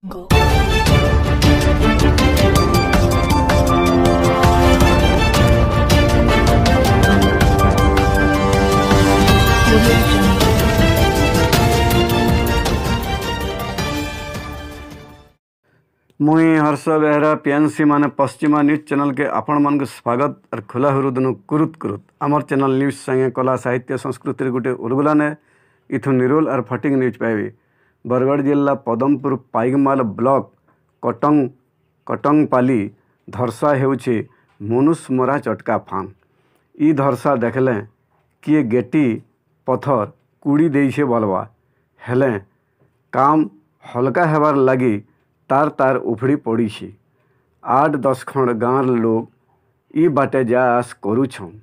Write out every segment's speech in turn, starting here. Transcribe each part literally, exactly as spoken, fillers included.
ମୁଇଁ ହର୍ଷ ବେହେରା, ପିଏନ୍ସି ମାନେ ପଶ୍ଚିମା ନ୍ୟୁଜ୍ ଚ୍ୟାନେଲକେ ଆପଣମାନଙ୍କୁ ସ୍ୱାଗତ ଆର୍ ଖୋଲା ହୃଦୟନୁ କୁରୁତ କୁରୁତ। ଆମର ଚ୍ୟାନେଲ ନ୍ୟୁଜ୍ ସାଙ୍ଗେ କଲା, ସାହିତ୍ୟ, ସଂସ୍କୃତିର ଗୋଟେ ଉଲଗୁଲାନେ। ଇଥୁ ନିରୋଲ ଆର୍ ଫଟିକ୍ ନ୍ୟୁଜ୍ ପାଇବେ। ବରଗଡ଼ ଜିଲ୍ଲା ପଦମପୁର ପାଇକମାଲ ବ୍ଲକ କଟଙ୍ଗ, କଟଙ୍ଗପାଲି ଧର୍ସା ହେଉଛି ମନୁଷ ମରା ଚଟକା ଫାନ୍। ଇ ଧର୍ସା ଦେଖଲେ କିଏ ଗେଟି ପଥର କୁଡ଼ି ଦେଇଛେ ବଲବା, ହେଲେ କାମ ହଲକା ହେବାର ଲାଗି ତାର ତାର ଉଫଡ଼ି ପଡ଼ିଛି। ଆଠ ଦଶ ଖଣ୍ଡ ଗାଁର ଲୋକ ଇ ବାଟେ ଯା ଆସ କରୁଛନ୍।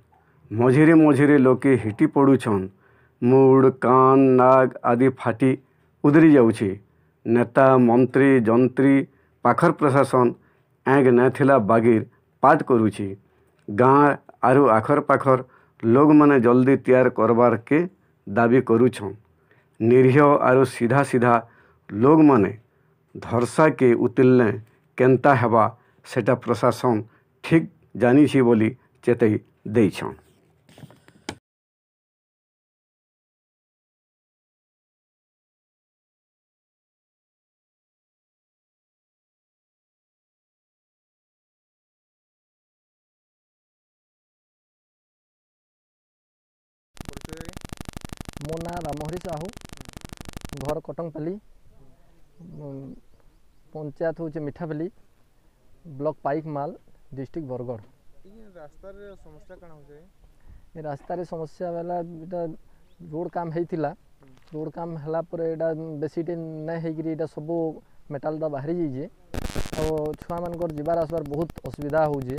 ମଝିରେ ମଝିରେ ଲୋକେ ହିଟି ପଡ଼ୁଛନ୍। ମୁଡ଼, କାନ, ନାକ ଆଦି ଫାଟି ଉଦରି ଯାଉଛି। ନେତା, ମନ୍ତ୍ରୀ, ଯନ୍ତ୍ରୀ, ପାଖର ପ୍ରଶାସନ ଏଙ୍ଗ ନେଥିଲା ବାଗିର ପାଠ କରୁଛି। ଗାଁ ଆରୁ ଆଖର ପାଖର ଲୋକମାନେ ଜଲ୍ଦି ତିଆର କରବାରକେ ଦାବି କରୁଛନ୍। ନିରୀହ ଆରୁ ସିଧା ସିଧା ଲୋକମାନେ ଧର୍ସାକେ ଉତିଲଲେ କେନ୍ତା ହେବା, ସେଟା ପ୍ରଶାସନ ଠିକ୍ ଜାନିଛି ବୋଲି ଚେତେଇ ଦେଇଛନ୍। ମୋ ନାଁ ରାମହରି ସାହୁ, ଘର କଟଙ୍ଗପାଲି, ଉଁ, ପଞ୍ଚାୟତ ହଉଛେ ମିଠାପାଲି, ବ୍ଲକ ପାଇକମାଲ, ଡିଷ୍ଟ୍ରିକ୍ଟ ବରଗଡ଼। ଇ ରାସ୍ତାରେ ସମସ୍ୟା କାଣା ହଉଛେ? ଏ ରାସ୍ତାରେ ସମସ୍ୟା ବେଲା, ଏଟା ରୋଡ କାମ ହେଇଥିଲା। ହୁଁ। ରୋଡ କାମ ହେଲା ପରେ ଏଟା ବେଶୀ ଟେ ନାଇଁ ହେଇକିରି ଏଟା ସବୁ ମେଟାଲ ଟା ବାହାରି ଯାଇଛେ। ଆଉ ଛୁଆମାନଙ୍କର ଯିବାର ଆସିବାର ବହୁତ ଅସୁବିଧା ହଉଛେ।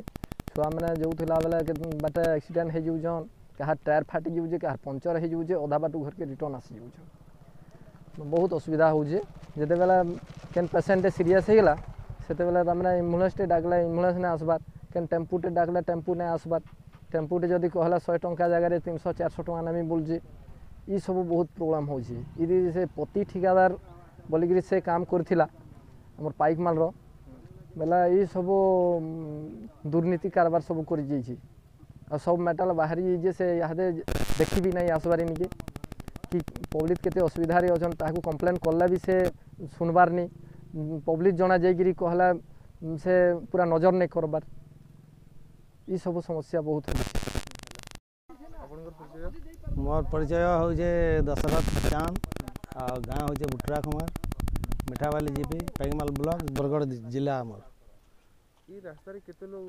ଛୁଆମାନେ ଯାଉଥିଲା ବେଲେ କେ-, ବାଟେ ଆକ୍ସିଡେଣ୍ଟ ହେଇଯାଉଛନ୍, କାହାର ଟାୟାର ଫାଟି ଯାଉଛେ, କାହାର ପଞ୍ଚର ହେଇଯାଉଛେ, ଅଧା ବାଟୁ ଘରକେ ରିଟର୍ନ ଆସି ଯାଉଛନ୍। ବହୁତ ଅସୁବିଧା ହଉଛେ। ଯେତେବେଲେ କେନ୍ ପେସେଣ୍ଟ ସିରିୟସ୍ ହେଇଗଲା, ସେତେବେଲେ ତାମାନେ ଆମ୍ବୁଲାନ୍ସଟେ ଡାକଲେ ଆମ୍ବୁଲାନ୍ସ ନାଇଁ ଆସବାର, କେନ୍ ଟେମ୍ପୁଟେ ଡାକଲେ ଟେମ୍ପୁ ନାଇଁ ଆସବାର। ଟେମ୍ପୁଟେ ଯଦି କହଲା ଶହେ ଟଙ୍କା ଜାଗାରେ ତିନିଶହ ଚାରିଶହ ଟଙ୍କା ନେମି ବୋଲୁଛେ। ଇ ସବୁ ବହୁତ ପ୍ରୋବ୍ଲେମ ହଉଛେ। ଇଦି ସେ ପତି ଠିକାଦାର ବୋଲିକିରି ସେ କାମ କରିଥିଲା, ଆମର ପାଇକମାଲର, ବେଲେ ଇ ସବୁ, ଉଁ, ଦୁର୍ନୀତି କାରବାର ସବୁ କରି ଯାଇଛେ। ଆଉ ସବୁ ମେଟାଲ ବାହାରି ଯାଇଛେ, ସେ ଇହାଦେ ଦେଖି ବି ନାଇଁ ଆସବାରେ ନିକେ। କି ପବ୍ଲିକ କେତେ ଅସୁବିଧାରେ ଅଛନ୍, ତାହାକୁ କମ୍ପ୍ଲେନ କଲେ ବି ସେ ଶୁଣବାର ନି। ପବ୍ଲିକ ଜଣା ଯାଇକିରି କହଲା, ସେ ପୁରା ନଜର ନାଇଁ କରବାର। ଇ ସବୁ ସମସ୍ୟା ବହୁତ ହଉଛେ। ଆପଣଙ୍କର ପରିଚୟ? ମୋର ପରିଚୟ ହଉଛେ ଦଶରଥ ଚାନ୍ଦ, ଆଉ ଗାଁ ହଉଛେ ବୁଟରା ଖମାର, ମିଠାବାଲି ଜିପି, ପାଇକମାଲ ବ୍ଲକ, ବରଗଡ଼ ଜି-, ଜିଲ୍ଲା ଆମର। ଇ ରାସ୍ତାରେ କେତେ ଲୋକ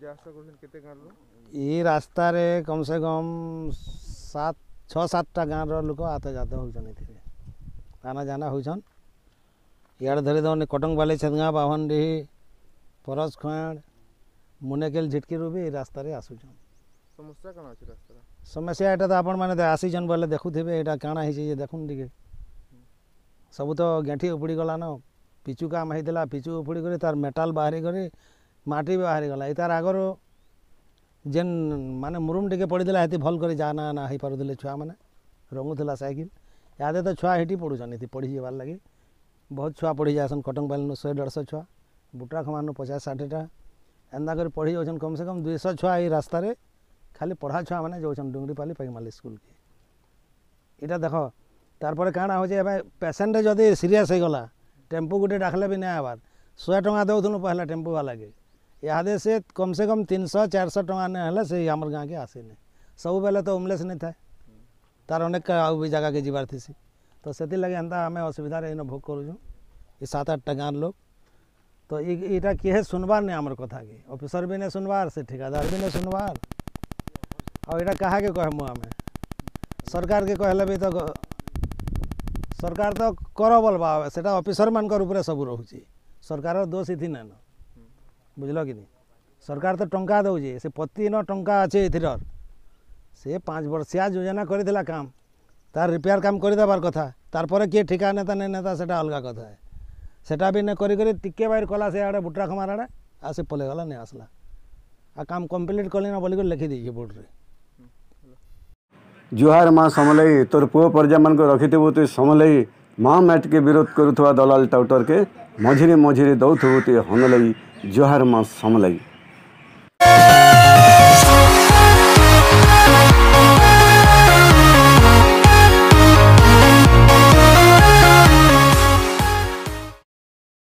ଯା ଆସ କରୁଛନ୍, କେତେ ଗାଁର ଲୋକ? ଇ ରାସ୍ତାରେ କମ ସେ କମ ସାତ, ଛଅ ସାତଟା ଗାଁର ଲୋକ ଆତ ଯାତ ହଉଛନ୍ ଏଥିରେ। ଆନା ଯାନା ହଉଛନ୍। ଇଆଡ଼େ ଧରି ଦଉନି କଟଙ୍ଗପାଲି, ଛେଦଗାଁ, ବାଭନଡିହି, ପରସ ଖୁଆଁଡ଼, ମୁନେକେଲ, ଝିଟକିରୁ ବି ଇ ରାସ୍ତାରେ ଆସୁଛନ୍। ସମସ୍ୟା କାଣା ଅଛି ରାସ୍ତାର? ସମସ୍ୟା ଏଇଟା ତ ଆପଣମାନେ ଦେ-, ଆସିଛନ୍ ବୋଲେ ଦେଖୁଥିବେ, ଏଇଟା କାଣା ହେଇଛି ଯେ ଦେଖୁନ୍ ଟିକେ। ସବୁ ତ ଗେଣ୍ଠି ଉପୁଡ଼ି ଗଲାନ, ପିଚୁ କାମ ହେଇଥିଲା, ପିଚୁ ଉପୁଡ଼ି କରି ତାର ମେଟାଲ ବାହାରି କରି ମାଟି ବି ବାହାରି ଗଲା। ଇ ତାର ଆଗରୁ ଯେନ୍ ମାନେ ମୁରୁମ ଟିକେ ପଡ଼ିଥିଲା, ହେତି ଭଲ କରି ଯାନା ଆନା ହେଇପାରୁଥିଲେ ଛୁଆମାନେ, ରଙ୍ଗୁଥିଲା ସାଇକେଲ। ଇହାଦେ ତ ଛୁଆ ହେଟି ପଡ଼ୁଛନ୍, ଏଠି ପଢ଼ି ଯିବାର ଲାଗି। ବହୁତ ଛୁଆ ପଢ଼ି ଯାଏସନ୍, କଟଙ୍ଗପାଲିନୁ ଶହେ ଦେଢ଼ଶହ ଛୁଆ, ବୁଟରା ଖମାରନୁ ପଚାଶ ଷାଠିଏଟା, ଏନ୍ତା କରି ପଢ଼ି ଯାଉଛନ୍। କମ ସେ କମ ଦୁଇଶହ ଛୁଆ ଏଇ ରାସ୍ତାରେ ଖାଲି ପଢ଼ା ଛୁଆମାନେ ଯାଉଛନ୍ ଡୁଙ୍ଗରିପାଲି ପାଇକମାଲ ସ୍କୁଲକେ। ଇଟା ଦେଖ, ତାରପରେ କାଣା ହଉଛେ, ଏବେ ପେସେଣ୍ଟ ଯଦି ସିରିୟସ୍ ହେଇଗଲା, ଟେମ୍ପୁ ଗୋଟେ ଡାକଲେ ବି ନାଇଁ ଆବାର। ଶହେ ଟଙ୍କା ଦଉଥିଲୁ ପହିଲା ଟେମ୍ପୁ ବାଲାକେ, ଇହାଦେ ସେ କମ ସେ କମ ତିନିଶହ ଚାରିଶହ ଟଙ୍କା ନାଇଁ ହେଲେ ସେ ଆମର ଗାଁକେ ଆସେନି। ସବୁବେଲେ ତ ଉମଲେସ ନାଇଁ ଥାଏ, ତାର ଅନେକ ଆଉ ବି ଜାଗାକେ ଯିବାର ଥିସି। ତ ସେଥିର୍ଲାଗି ଏନ୍ତା ଆମେ ଅସୁବିଧାରେ ଇନ ଭୋଗ କରୁଛୁଁ, ଇ ସାତ ଆଠଟା ଗାଁର ଲୋକ। ତ ଇ-, ଇଟା କିହେ ଶୁନବାର ନାଇଁ ଆମର କଥାକେ, ଅଫିସର ବି ନାଇଁ ଶୁନବାର, ସେ ଠିକାଦାର ବି ନାଇଁ ଶୁନବାର। ଆଉ ଇଟା କାହାକେ କହେମୁ ଆମେ? ସରକାରକେ କହେଲେ ବି ତ ଗ-, ସରକାର ତ କର ବଲବା, ସେଟା ଅଫିସରମାନଙ୍କର ଉପରେ ସବୁ ରହୁଛି, ସରକାରର ଦୋଷ ଇଥି ନାଇଁନ, ବୁଝିଲ କି ନି? ସରକାର ତ ଟଙ୍କା ଦଉଛେ, ସେ ପତିନ ଟଙ୍କା ଅଛେ ଏଥିରର। ସେ ପାଞ୍ଚ ବର୍ଷିଆ ଯୋଜନା କରିଥିଲା କାମ, ତାର ରିପେୟାର କାମ କରିଦେବାର କଥା। ତାର ପରେ କିଏ ଠିକା ନେତା ନାଇଁ ନେତା, ସେଟା ଅଲଗା କଥା। ସେଟା ବି ନାଇଁ କରି କରି ଟିକେ ବାଇର କଲା ସେ ଆଡ଼େ ବୁଟରା ଖମାର ଆଡ଼େ, ଆଉ ସେ ପଲେଇ ଗଲା, ନାଇଁ ଆସଲା। ଆଉ କାମ କମ୍ପ୍ଲିଟ କଲି ନା ବୋଲିକରି ଲେଖି ଦେଇଛେ ବୋର୍ଡରେ। ଜୁହାର ମା ସମଲେଇ, ତୋର ପୁଅ ପରଜାମାନଙ୍କୁ ରଖିଥିବୁ ତୁ ସମଲେଇ, ମା ମ୍ୟାଟ୍ କେ ବିରୋଧ କରୁଥିବା ଦଲାଲ ଟାଉଟର କେ ମଝିରେ ମଝିରେ ଦଉଥିବୁ ତେ ହନଲଇ। ଜୁହାର ମା ସମଲଇ।